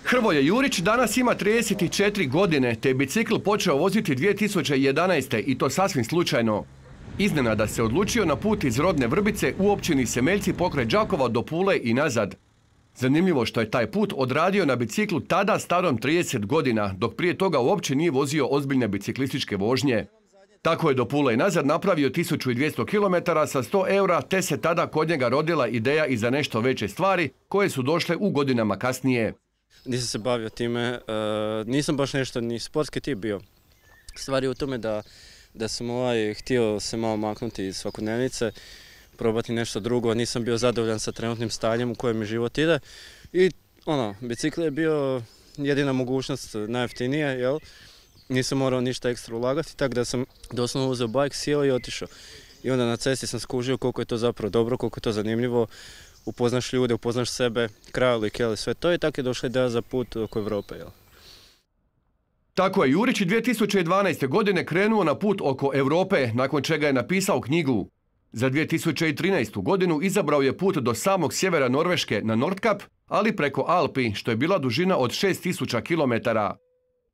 Hrvoje Jurić danas ima 34 godine, te je bicikl počeo voziti 2011. i to sasvim slučajno. Iznenada se odlučio na put iz rodne Vrbice u općini Semeljci pokraj Đakova do Pule i nazad. Zanimljivo što je taj put odradio na biciklu tada starom 30 godina, dok prije toga uopće nije vozio ozbiljne biciklističke vožnje. Tako je do Pule i nazad napravio 1200 km sa 100 eura, te se tada kod njega rodila ideja i za nešto veće stvari koje su došle u godinama kasnije. Nisam se bavio time, nisam baš nešto ni sportski tip bio. Stvar je u tome da sam htio se malo maknuti iz svakodnevnice, probati nešto drugo, nisam bio zadovoljan sa trenutnim stanjem u kojem mi život ide. I bicikl je bio jedina mogućnost, najjeftinije, jel? Nisam morao ništa ekstra ulagati, tako da sam doslovno uzeo bajk, sjeo i otišao. I onda na cesti sam skužio koliko je to zapravo dobro, koliko je to zanimljivo. Upoznaš ljude, upoznaš sebe, krajolik, sve to, i tako je došla ideja za put oko Europe. Jel? Tako je Jurić 2012. godine krenuo na put oko Europe, nakon čega je napisao knjigu. Za 2013. godinu izabrao je put do samog sjevera Norveške na Nordkap, ali preko Alpi, što je bila dužina od 6000 km.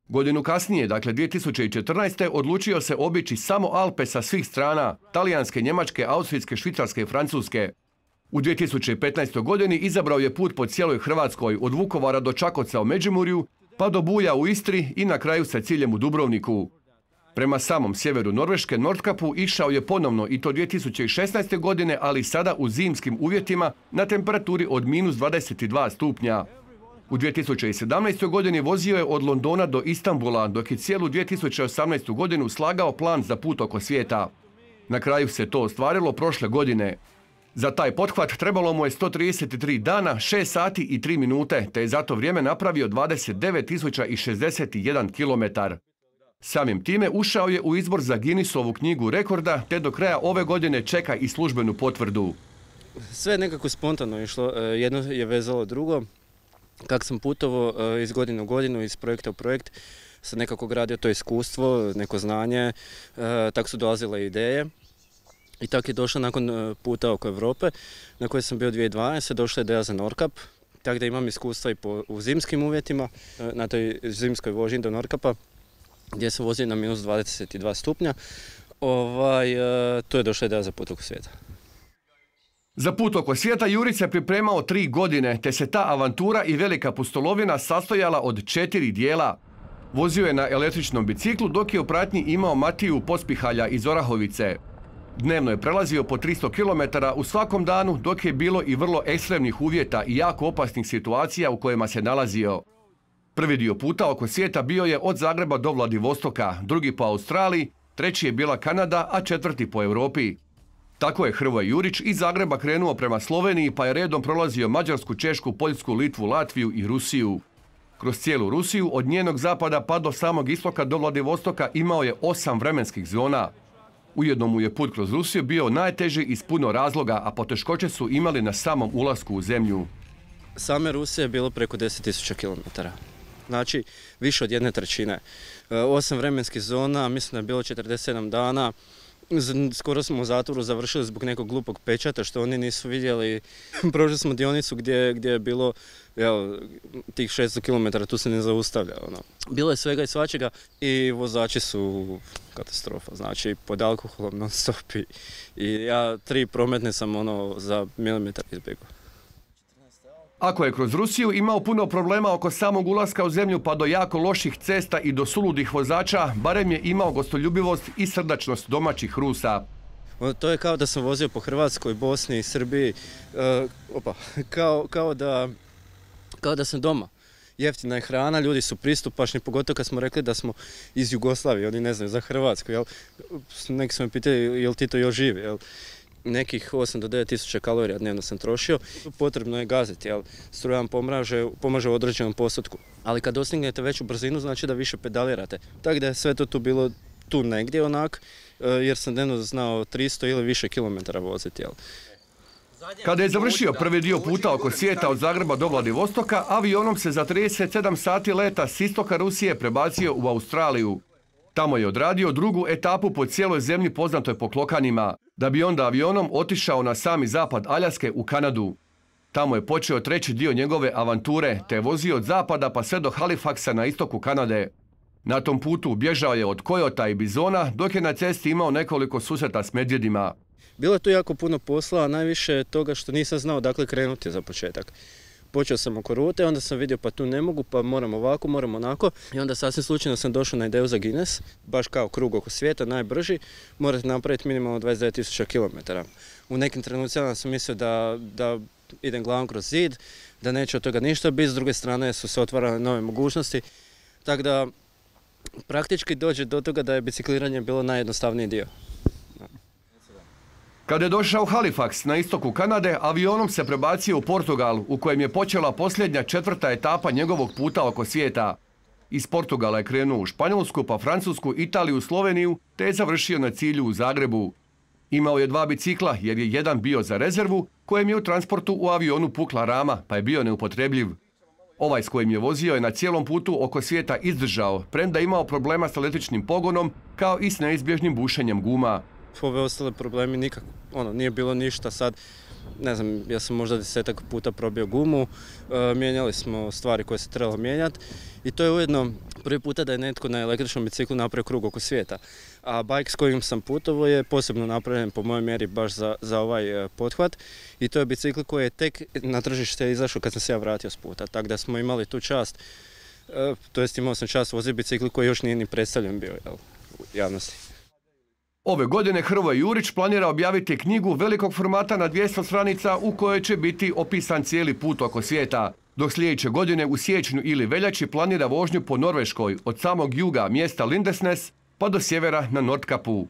Godinu kasnije, dakle 2014. odlučio se obići samo Alpe sa svih strana, talijanske, njemačke, austrijske, švicarske i francuske. U 2015. godini izabrao je put po cijeloj Hrvatskoj, od Vukovara do Čakovca u Međimurju, pa do Buja u Istri i na kraju sa ciljem u Dubrovniku. Prema samom sjeveru Norveške, Nordkapu, išao je ponovno i to 2016. godine, ali sada u zimskim uvjetima na temperaturi od -22 stupnja. U 2017. godini vozio je od Londona do Istanbula, dok je cijelu 2018. godinu slagao plan za put oko svijeta. Na kraju se to ostvarilo prošle godine. Za taj pothvat trebalo mu je 133 dana, 6 sati i 3 minute, te je za to vrijeme napravio 29.061 km. Samim time ušao je u izbor za Guinnessovu knjigu rekorda, te do kraja ove godine čeka i službenu potvrdu. Sve je nekako spontano išlo, jedno je vezalo drugo. Kako sam putovao iz godine u godinu, iz projekta u projekt, sam nekako gradio to iskustvo, neko znanje, tako su dolazile ideje. I tako je došla nakon puta oko Europe, na kojoj sam bio 2012. došla ideja za Nordkap, tako da imam iskustva i u zimskim uvjetima, na toj zimskoj vožnji do Nordkapa, gdje sam vozio na -22 stupnja. To je došla ideja za put oko svijeta. Za put oko svijeta Jurić se pripremao 3 godine, te se ta avantura i velika pustolovina sastojala od 4 dijela. Vozio je na električnom biciklu, dok je u pratnji imao Matiju Pospihalja iz Orahovice. Dnevno je prelazio po 300 km u svakom danu, dok je bilo i vrlo ekstremnih uvjeta i jako opasnih situacija u kojima se nalazio. Prvi dio puta oko svijeta bio je od Zagreba do Vladivostoka, drugi po Australiji, treći je bila Kanada, a četvrti po Europi. Tako je Hrvoje Jurić iz Zagreba krenuo prema Sloveniji, pa je redom prolazio Mađarsku, Češku, Poljsku, Litvu, Latviju i Rusiju. Kroz cijelu Rusiju, od njenog zapada pa do samog istoka do Vladivostoka, imao je 8 vremenskih zona. Ujedno mu je put kroz Rusiju bio najteži iz puno razloga, a poteškoće su imali na samom ulasku u zemlju. Same Rusije je bilo preko 10.000 km. Znači, više od 1/3. 8 vremenskih zona, mislim da je bilo 47 dana. Skoro smo u zatvoru završili zbog nekog glupog pečata što oni nisu vidjeli. Prošli smo dionicu gdje je bilo tih 600 km, tu se ne zaustavlja. Bilo je svega i svačega i vozači su katastrofa, znači pod alkoholom non stop i ja 3 prometne sam za milimetar izbjegao. Ako je kroz Rusiju imao puno problema oko samog ulaska u zemlju pa do jako loših cesta i do suludih vozača, barem je imao gostoljubivost i srdačnost domaćih Rusa. To je kao da sam vozio po Hrvatskoj, Bosni, Srbiji, kao da sam doma. Jeftina je hrana, ljudi su pristupačni, pogotovo kad smo rekli da smo iz Jugoslavije, oni ne znaju za Hrvatsku. Neki su me pitali, jel ti to još živi? Nekih 8 do 9.000 kalorija dnevno sam trošio. Potrebno je gaziti, struja vam pomaže u određenom postotku. Ali kad dostignete veću brzinu, znači da više pedalirate. Tako da je sve to tu bilo tu negdje jer sam dnevno znao 300 ili više kilometara voziti. Kada je završio prvi dio puta oko svijeta od Zagreba do Vladivostoka, avionom se za 37 sati leta s istoka Rusije prebacio u Australiju. Tamo je odradio drugu etapu po cijeloj zemlji poznatoj po klokanima, da bi onda avionom otišao na sami zapad Aljaske u Kanadu. Tamo je počeo treći dio njegove avanture, te je vozio od zapada pa sve do Halifaxa na istoku Kanade. Na tom putu bježao je od kojota i bizona, dok je na cesti imao nekoliko susreta s medvjedima. Bilo je tu jako puno posla, a najviše toga što nisam znao dakle krenuti za početak. Počeo sam oko rute, onda sam vidio pa tu ne mogu, pa moram ovako, moram onako. I onda sasvim slučajno sam došao na ideju za Guinness, baš kao krug oko svijeta, najbrži. Morate napraviti minimalno 29.000 km. U nekim trenucima sam mislio da idem glavom kroz zid, da neće od toga ništa biti, s druge strane su se otvarale nove mogućnosti. Tako da praktički dođe do toga da je bicikliranje bilo najjednostavniji dio. Kada je došao u Halifax na istoku Kanade, avionom se prebacio u Portugal, u kojem je počela posljednja 4. etapa njegovog puta oko svijeta. Iz Portugala je krenuo u Španjolsku, pa Francusku, Italiju, Sloveniju, te je završio na cilju u Zagrebu. Imao je 2 bicikla jer je jedan bio za rezervu, kojem je u transportu u avionu pukla rama, pa je bio neupotrebljiv. Ovaj s kojim je vozio je na cijelom putu oko svijeta izdržao, premda imao problema s električnim pogonom, kao i s neizbježnim bušenjem guma. Ove ostale problemi nikako, nije bilo ništa sad. Ne znam, ja sam možda 10-ak puta probio gumu, mijenjali smo stvari koje se trebalo mijenjati i to je ujedno prvi puta da je netko na električnom biciklu napravio krug oko svijeta. A bajk s kojim sam putovao je posebno napravljen po mojoj mjeri baš za ovaj pothvat i to je bicikl koji je tek na tržište izašao kad sam se ja vratio s puta. Tako da smo imali tu čast, to jest imao sam čast voziti bicikl koji još nije ni predstavljen bio u javnosti. Ove godine Hrvoje Jurić planira objaviti knjigu velikog formata na 200 stranica u kojoj će biti opisan cijeli put oko svijeta. Dok sljedeće godine u siječnju ili veljači planira vožnju po Norveškoj od samog juga mjesta Lindesnes pa do sjevera na Nordkapu.